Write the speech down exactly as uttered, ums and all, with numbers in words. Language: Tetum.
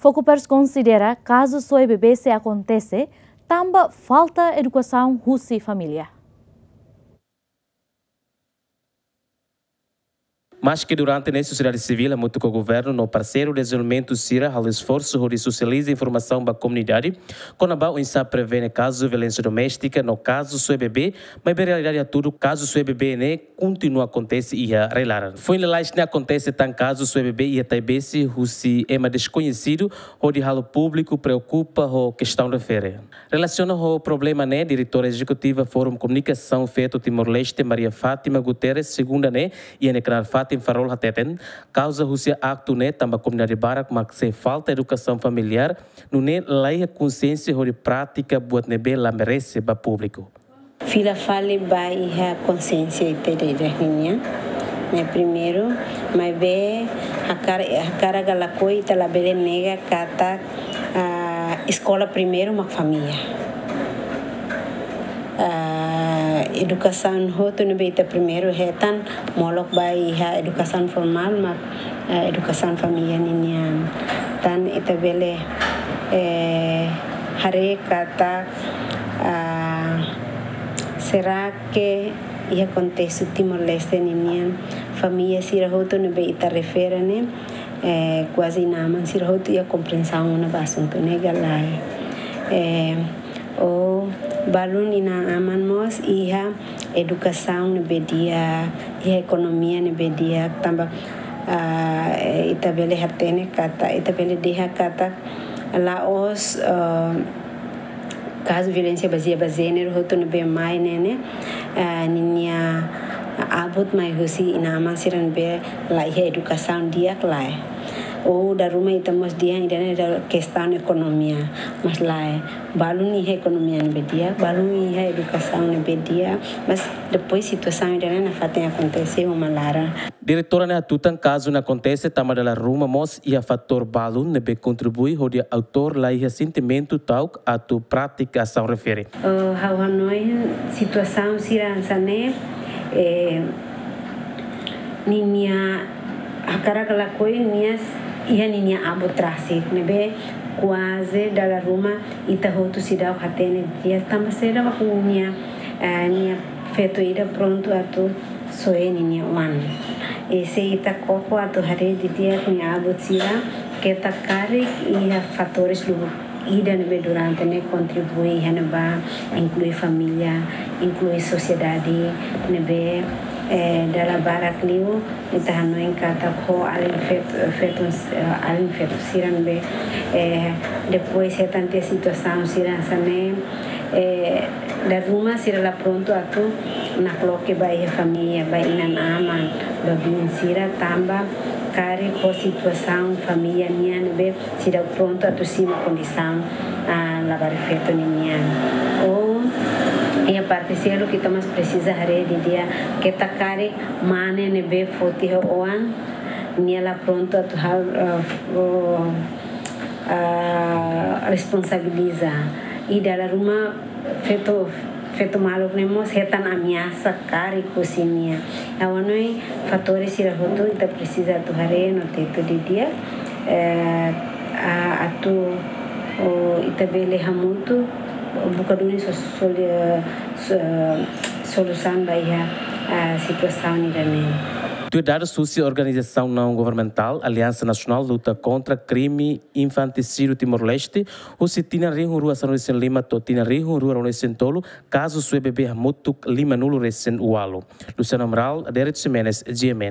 Preokupers konsidera kazu soe bebé sei akontese tanba falta edukasaun husi família. Maske durante ne'e sosiedade sivíl hamutuk ho governu no parseiru dezenvolvimentu sira halo esforsu hodi sosializa informasaun ba komunidade kona-ba oinsá prevene kazu violénsia doméstika no kazu soe bebé, maibé realidade hatudu kazu soe bebé ne'e kontinua akontese iha rai-laran. Foin lalais ne'e akontese tan kazu soe bebé iha Taibesi husi ema deskoñesidu hodi halo públiku preokupa ho kestaun refere. Relasiona ho problema ne'e, Diretora Ezekutiva Forum Komunikasaun Feto Timor-Leste, Maria Fátima Guterres, segunda ne'e, iha nia kanál Fatin Farol hateten, kauza husi aktu ne'e tanba komunidade barak mak sei falta edukasaun familiár, nune'e laiha konsiénsia hodi pratika buat ne'ebé la merese ba públiku. Fila fali ba iha konsiénsia ita ida-idak nian. Ne'e primeiru, maibé hakar-, hakarak ka lakohi ita labele nega katak, ah, eskola primeiru mak família. Ah, edukasaun hotu ne'ebé ita primeiru hetan molok ba iha edukasaun formál mak, ah, edukasaun família ninian. Tan ita bele, eh, haree katak, ah, será que iha kontestu Timor-Leste ninian família sira hotu ne'ebé ita refere ne'e, eh, kuaze inan-aman sira hotu iha komprensaun ona ba asuntu ne'e ka lae. Eh, ou balun inan-aman mós iha edukasaun ne'ebé di'ak, iha ekonomia ne'ebé di'ak, tanba, ah, ita bele hatene katak, ita bele dehan katak la'ós, ah, kazu violénsia bazeia ba jéneru hotu ne'ebé mai ne'e, eh, ninia abut mai husi inan-aman sira ne'ebé la iha edukasaun di'ak lae. Ou dala ruma ita mós dehan ida-ne'e ida kestaun ekonomia, mas lae. Balun iha ekonomia ne'ebé di'ak, balun iha edukasaun ne'ebé di'ak, mas depois situasaun ida-ne'e nafatin akontese uma laran. Diretora ne'e hatutan kazu ne'e akontese tanba dala ruma mós iha fatór balun ne'ebé kontribui hodi autór laiha sentimentu ta'uk atu pratika asaun refere. Eh, ha'u hanoin situasaun sira hanesan ne'e, eh, ninia hakarak ka lakohi nia s-, iha ninia abut rasik ne'ebé kuaze dala ruma ita hotu seidauk hatene di'ak tanba saida mak nia, eh, nia feto ida prontu atu soe ninia oan. I se ita koko atu haree didi'ak nia abut sira, keta karik iha fatores lubuk ida ne'ebé durante ne'e kontribui iha ne'ebá, inklui família, inklui sosiedade ne'ebé, eh, dala barak liu ita hanoin katak ho alin fet-, feto, eh, alin feto sira ne'ebé, eh, depois hetan tiha situasaun sira hanesan ne'e, eh, dala ruma sira la prontu atu nakloke ba iha família, ba inan-aman, ba biin sira tanba karik ho situasaun família nian ne'ebé seidauk prontu atu simu kondisaun, ah, labarik feto ninian. Ou iha parte seluk ita mós presiza haree didi'ak, keta karik mane ne'ebé foti ho oan, nia la prontu atu hal, eh, oh, ah, responsabiliza. I dala ruma feto, feto maluk ne'e mós hetan ameasa karik husi nia. Ha'u hanoin fatores sira hotu ita presiza atu haree no tetu didi'ak, eh, a-, atu, oh, ita bele hamutuk buka duni so-, soli-, so-, solusaun ba iha, ah, situasaun ida-ne'e. Tuir dadus husi organizasaun naun governamentál Aliansa Nasionál Luta Kontra Krime Infantisídiu Timor-Leste, husi tinan rihun rua sanulu-resin-lima to'o tinan rihun rua ruanulu-resin-tolu, kazu soe bebé hamutuk limanulu-resin-ualu. Luciano Amaral, Derek Ximenes, G M N.